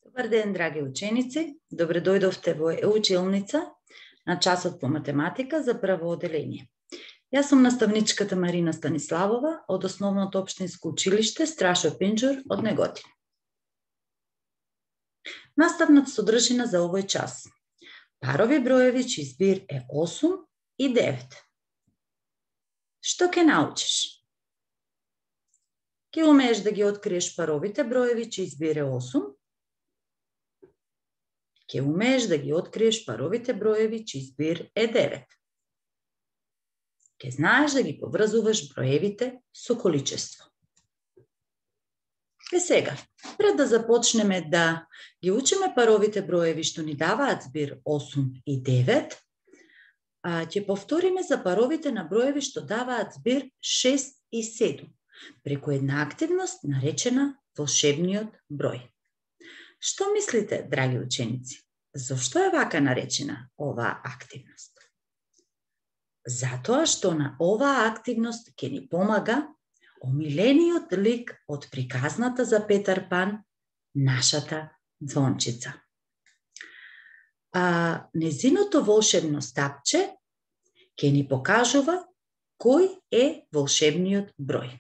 Добар ден, драги ученици. Добре дојдовте во училница на часот по математика за прво оделение. Јас сум наставничката Марина Станиславова од Основното општинско училиште Страшо Пинџур од Неготин. Наставната содржина за овој час. Парови броеви чиј збир е 8 и 9. Што ќе научиш? Ќе умееш да ги откриеш паровите броеви чиј збир е 8. Ќе умееш да ги откриеш паровите броеви чиј збир е 9. Ќе знаеш да ги поврзуваш броевите со количество. Сега, пред да започнеме да ги учиме паровите броеви што ни даваат збир 8 и 9, ќе повториме за паровите на броеви што даваат збир 6 и 7, преку една активност наречена волшебниот број. Што мислите, драги ученици? Зошто е вака наречена оваа активност? Затоа што на оваа активност ќе ни помага омилениот лик од приказната за Петар Пан, нашата ѕвончица. Незиното волшебно стапче ќе ни покажува кој е волшебниот број.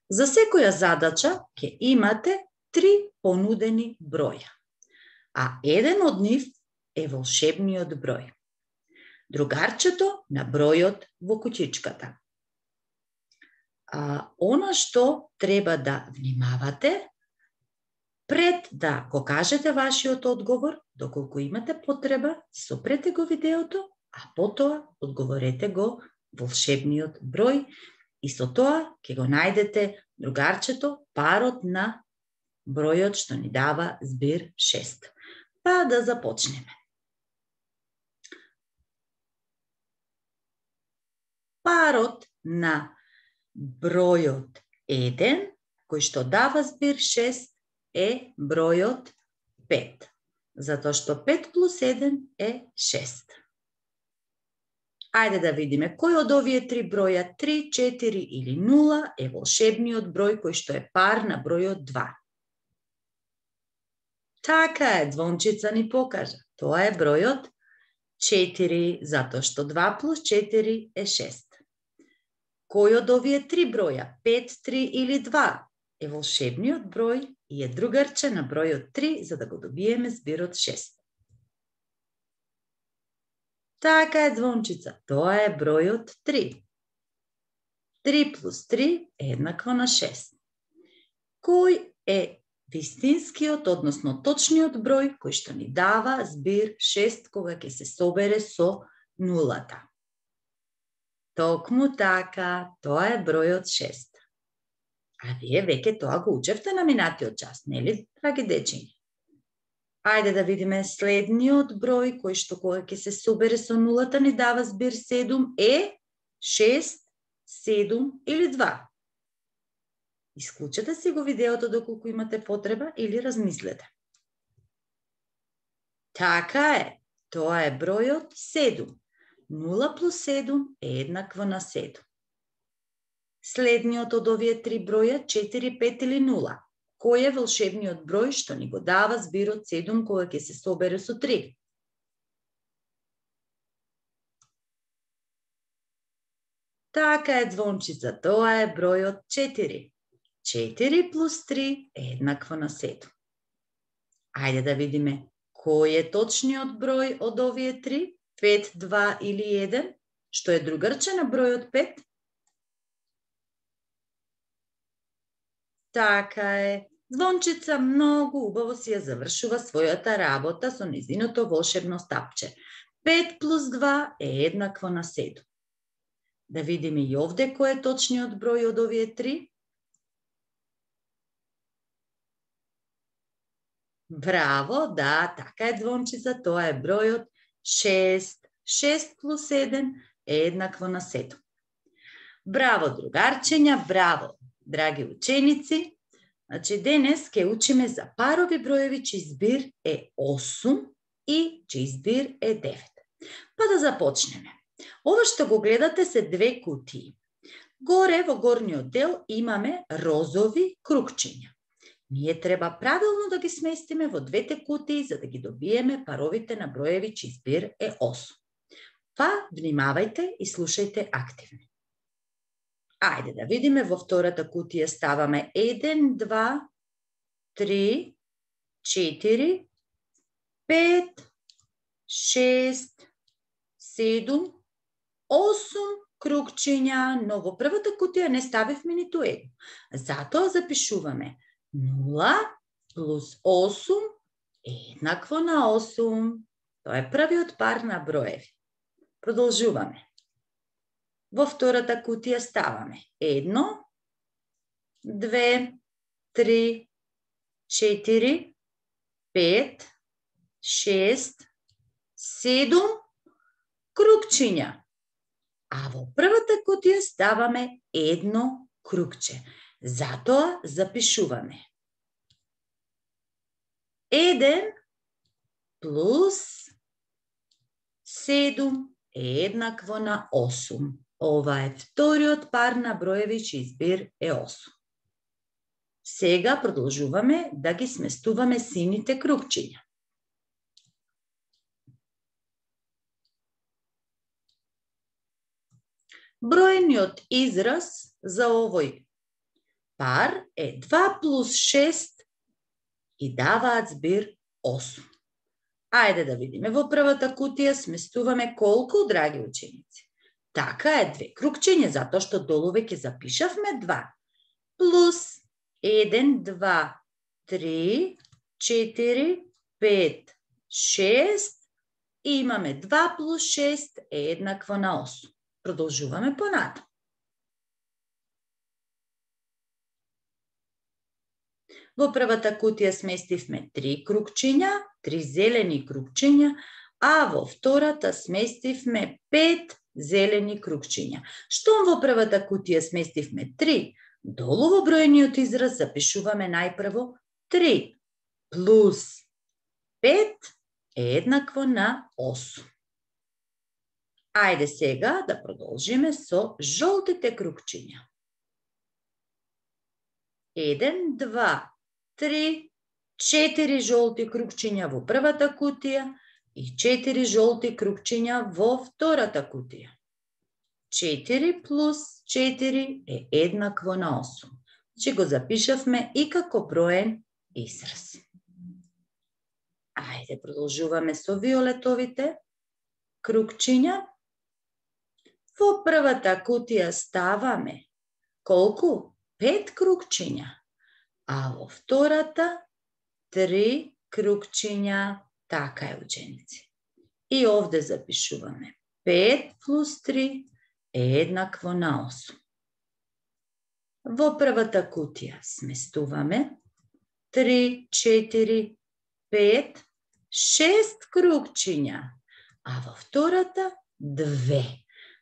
За секоја задача ќе имате 3 понудени броја, а еден од нив е волшебниот број. Другарчето на бројот во кутичката. Она што треба да внимавате, пред да го кажете вашиот одговор, доколку имате потреба, сопрете го видеото, а потоа одговорете го волшебниот број и со тоа ќе го најдете другарчето, парот на бројот што ни дава збир 6. Па да започнеме. Парот на бројот 1, кој што дава збир 6, е бројот 5, затоа што 5 плюс 1 е 6. Ајде да видиме кој од овие 3 броја, 3, 4 или 0, е волшебниот број кој што е пар на бројот 2. Така е, ѕвончица ни покажа. Тоа е бројот 4, затоа што 2 плюс 4 е 6. Кој од овие 3 броја, 5, 3 или 2, е волшебниот број и е другарче на бројот 3, за да го добиеме збирот 6? Така е, ձвончица, тоа е бројот 3. 3 плюс 3 е еднакво на 6. Кој е вистинскиот, односно точниот број кој што ни дава збир 6 кога ќе се собере со нулата? Токму така, тоа е бројот 6. А вие веќе тоа го учевте на минатиот час, нели, драги дечиња? Ајде да видиме следниот број кој што кога ќе се собере со нулата ни дава збир 7 е 6, 7 или 2. Исклучете си го видеото доколку имате потреба или размислете. Така е, тоа е бројот 7. 0 плюс 7 е еднакво на 7. Следниот од овие 3 броја, 4, 5 или 0. Кој е волшебниот број што ни го дава збирот 7 кога ќе се собере со 3? Така е, ձвончица, тоа е бројот 4. 4 плюс 3 е еднакво на 7. Ајде да видиме кој е точниот број од овие 3, 5, 2 или 1, што е другарче на бројот 5? Така е, ձвончица многу убаво си ја завршува својата работа со незиното волшебно стапче. 5 плюс 2 е еднакво на 7. Да видиме и овде кој е точниот број од овие 3. Браво, да, така е, ձвончица, тоа е бројот 6. 6 плюс 1 е еднакво на 7. Браво, другарчења, браво, драги ученици. Значи, денес ќе учиме за парови броеви чиј збир е 8 и чиј збир е 9. Па да започнеме. Ова што го гледате се 2 кутии. Горе во горниот дел имаме розови кругчиња. ние треба правилно да ги сместиме во двете кутии за да ги добиеме паровите на броеви чиј збир е 8. Па, внимавајте и слушајте активно. Ајде да видиме, во втората кутија ставаме 1, 2, 3, 4, 5, 6, 7, 8 кругчиња, но во првата кутија не ставивме ниту едно. Затоа запишуваме 0 плюс 8 еднакво на 8. Тоа е првиот пар на броеви. Продолжуваме. Во втората кутија ставаме 1, 2, 3, 4, 5, 6, 7 кругчиња. А во првата кутија ставаме едно кругче. Затоа запишуваме 1 плюс 7 е еднакво на 8. Ова е вториот пар на броеви чиј збир е 8. Сега продолжуваме да ги сместуваме сините кругчиња. Бројниот израз за овој пар е 2 плюс 6 и даваат збир 8. Ајде да видиме, во првата кутија сместуваме колку, драги ученици? Така е, 2 кругчиња, затоа што долу веќе запишавме 2. Плюс 1, 2, 3, 4, 5, 6 и имаме 2 плюс 6 е еднакво на 8. Продолжуваме понатаму. Во првата кутија сместивме 3 кругчиња, 3 зелени кругчиња, а во втората сместивме 5 зелени кругчиња. Штом во првата кутија сместивме 3, долу во бројниот израз запишуваме најпрво 3 плюс 5 е еднакво на 8. Ајде сега да продолжиме со жолтите кругчиња. 1, 2, 3, 4 жолти кругчиња во првата кутија и 4 жолти кругчиња во втората кутија. 4 плюс 4 е еднакво на 8. Значи го запишавме и како броен израз. Ајде продолжуваме со виолетовите кругчиња. Во првата кутија ставаме колку? 5 кругчиња, а во втората 3 кругчиња. Така е, ученици. И овде запишуваме 5 плюс 3 е еднакво на 8. Во првата кутија сместуваме 3, 4, 5, 6 кругчиња, а во втората 2.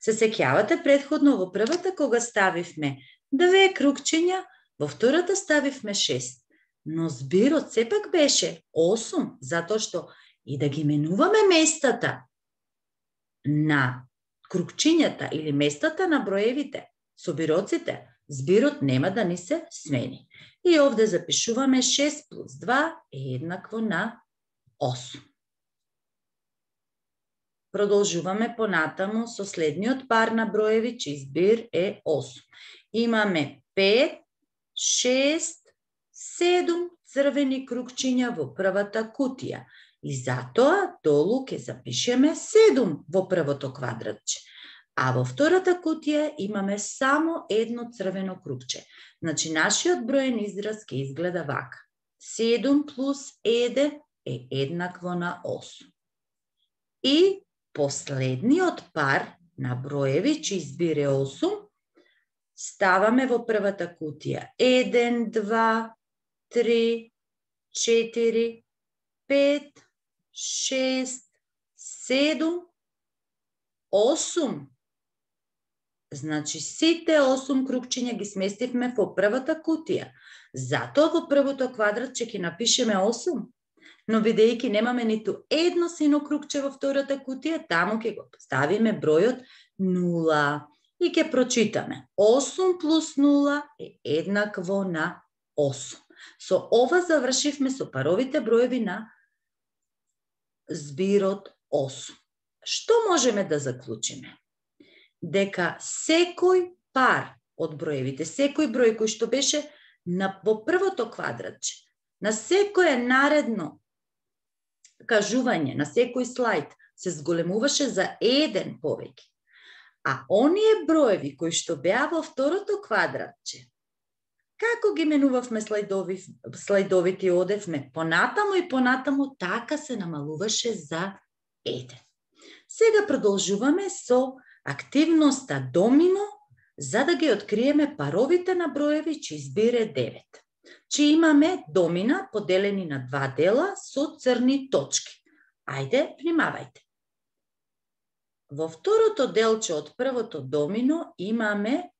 Се сеќавате предходно во првата кога ставивме 2 кругчиња, во втората ставивме 6. Но збирот сепак беше 8, затоа што и да ги менуваме местата на кругчињата или местата на броевите, собироците, збирот нема да ни се смени. И овде запишуваме 6 плюс 2 е еднакво на 8. Продолжуваме понатаму со следниот пар на броеви чиј збир е 8. Имаме 5, 6, 7 црвени кругчиња во првата кутија и затоа долу ќе запишеме 7 во првото квадратче. А во втората кутија имаме само едно црвено кругче. Значи, нашиот броен израз ќе изгледа вака. 7 плюс 1 е еднакво на 8. И последниот пар на броеви чиј збир е 8 ставаме во првата кутија. 1, 2, 3, 4, 5, 6, 7, 8. Значи, сите 8 кругчиња ги сместивме во првата кутија. Затоа во првото квадратче ќе напишеме 8. Но бидејќи немаме ниту едно сино кругче во втората кутија, таму ќе го ставиме бројот 0. И ќе прочитаме. 8 плюс 0 е еднакво на 8. Со ова завршивме со паровите броеви на збирот 8. Што можеме да заклучиме? Дека секој пар од броевите, секој број кој што беше во првото квадратче, на секое наредно кажување, на секој слайд, се зголемуваше за 1 повеќе. А оние броеви кои што беа во второто квадратче, како ги менувавме слайдовите и одевме понатаму и понатаму, така се намалуваше за 1. Сега продолжуваме со активноста домино, за да ги откриеме паровите на броеви чиј збир е 9. Че имаме домина поделени на 2 дела со црни точки. Ајде, внимавајте. Во второто делче од првото домино имаме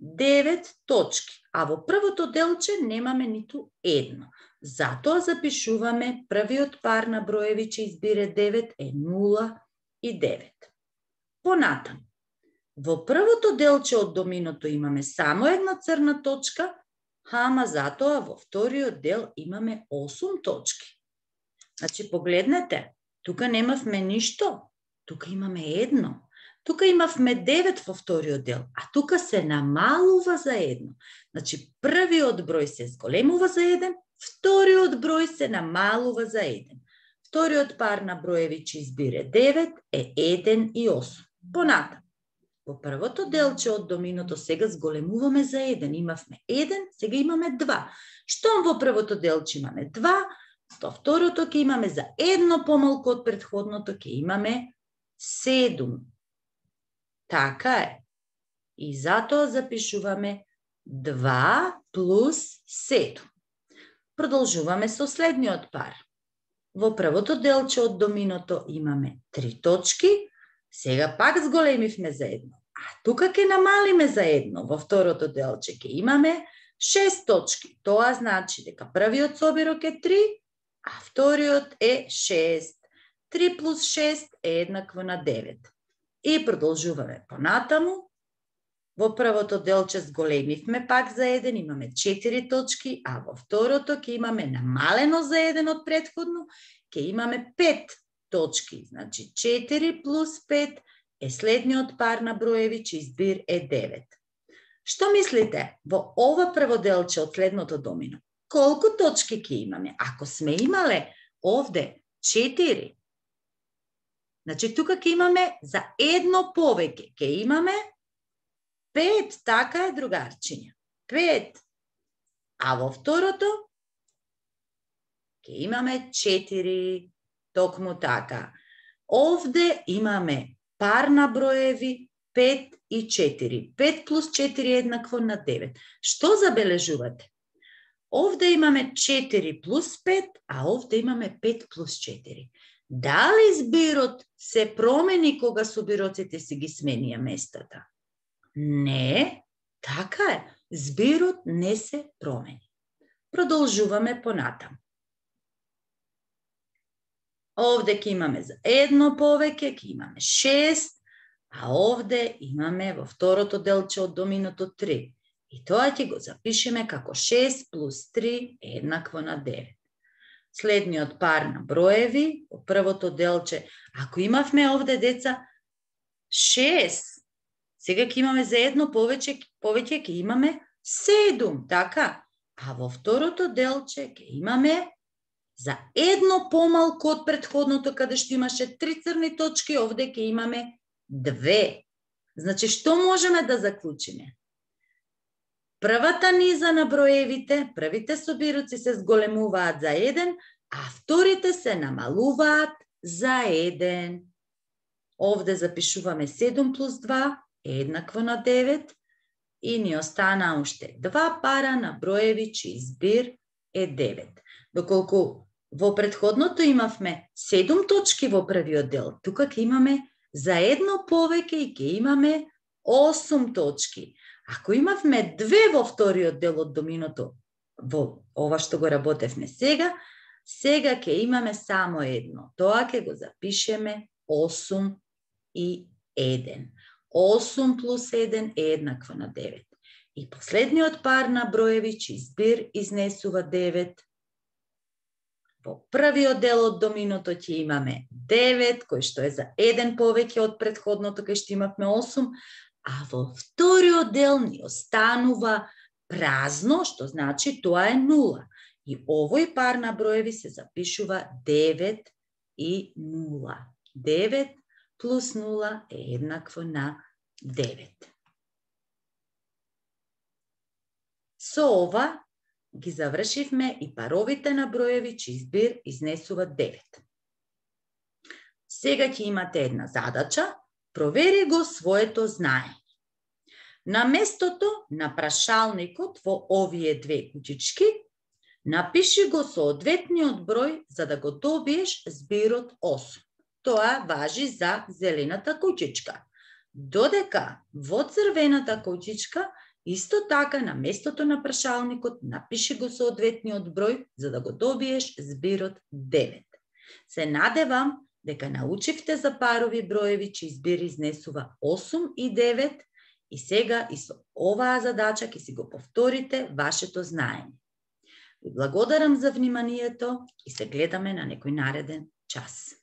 9 точки, а во првото делче немаме ниту едно. Затоа запишуваме првиот пар на броеви чиј збир е 9 е 0 и 9. Понатаму, во првото делче од доминото имаме само една црна точка, ама затоа во вториот дел имаме 8 точки. Значи, погледнете, тука немавме ништо, тука имаме едно. Тука имавме 9 во вториот дел, а тука се намалува за едно. Значи, првиот број се зголемува за 1, вториот број се намалува за 1. Вториот пар на броеви чиј збир е 9 е 1 и 8. Понатаму, во првото делче од доминото сега зголемуваме за 1. Имавме 1, сега имаме 2. Штом во првото делче имаме 2, во второто ќе имаме за едно помалку од претходното, ќе имаме 7. Така е. И затоа запишуваме 2 плюс 7. Продолжуваме со следниот пар. Во првото делче од доминото имаме 3 точки, сега пак зголемивме за едно. А тука ќе намалиме за едно. Во второто делче ќе имаме 6 точки. Тоа значи дека првиот собирок е 3, а вториот е 6. 3 плюс 6 е еднакво на 9. И продолжуваме понатаму. Во првото делче зголемивме пак за 1, имаме 4 точки, а во второто ќе имаме намалено за 1 од претходно, ќе имаме 5 точки. Значи 4 плюс 5 е следниот пар на броеви чиј збир е 9. Што мислите во ова прво делче од следното домино? Колку точки ќе имаме? Ако сме имале овде 4, значи тука ќе имаме за едно повеќе, ќе имаме 5, така е, другарчиња. 5. А во второто ќе имаме 4, токму така. Овде имаме пар на броеви 5 и 4. 5 плюс 4 е еднакво на 9. Што забележувате? Овде имаме 4 плюс 5, а овде имаме 5 плюс 4. Дали збирот се промени кога собироците си ги сменија местата? Не, така е. Збирот не се промени. Продолжуваме понатаму. Овде ќе имаме за едно повеќе, ќе имаме 6, а овде имаме во второто делче од доминото 3. И тоа ќе го запишеме како 6 плюс 3 е еднакво на 9. Следниот пар на броеви, во првото делче, ако имавме овде, деца, 6, сега ќе имаме за едно повеќе ќе имаме 7, така? А во второто делче ќе имаме за едно помалку од претходното, каде што имаше 3 црни точки, овде ќе имаме 2. Значи, што можеме да заклучиме? Првата низа на броевите, првите собироци се зголемуваат за 1, а вторите се намалуваат за 1. Овде запишуваме 7 плюс 2 е еднакво на 9 и ни остана уште 2 пара на броеви чиј збир е 9. Доколку во претходното имавме 7 точки во првиот дел, тука ќе имаме за едно повеќе и ќе имаме 8 точки. Ако имавме 2 во вториот дел од доминото, во ова што го работевме сега ќе имаме само едно. Тоа ќе го запишеме 8 и 1. 8 плюс 1 е еднакво на 9. И последниот пар на броеви чиј збир изнесува 9. Во првиот дел од доминото ќе имаме 9, кој што е за 1 повеќе од претходното, кај што имавме 8, а во вториот дел ни останува празно, што значи тоа е 0. И овој пар на броеви се запишува 9 и 0. 9 плюс 0 е еднакво на 9. Со ова ги завршивме и паровите на броеви чиј збир изнесува 9. Сега ќе имате една задача, провери го своето знаење. На местото на прашалникот во овие две кучички, напиши го соодветниот број за да го добиеш збирот 8. Тоа важи за зелената кучичка. Додека во црвената кучичка, исто така на местото на прашалникот напиши го соодветниот број за да го добиеш збирот 9. Се надевам дека научивте за парови броеви чиј збир изнесува 8 и 9 и сега и со оваа задача ќе си го повторите вашето знаење. Ви благодарам за вниманието и се гледаме на некој нареден час.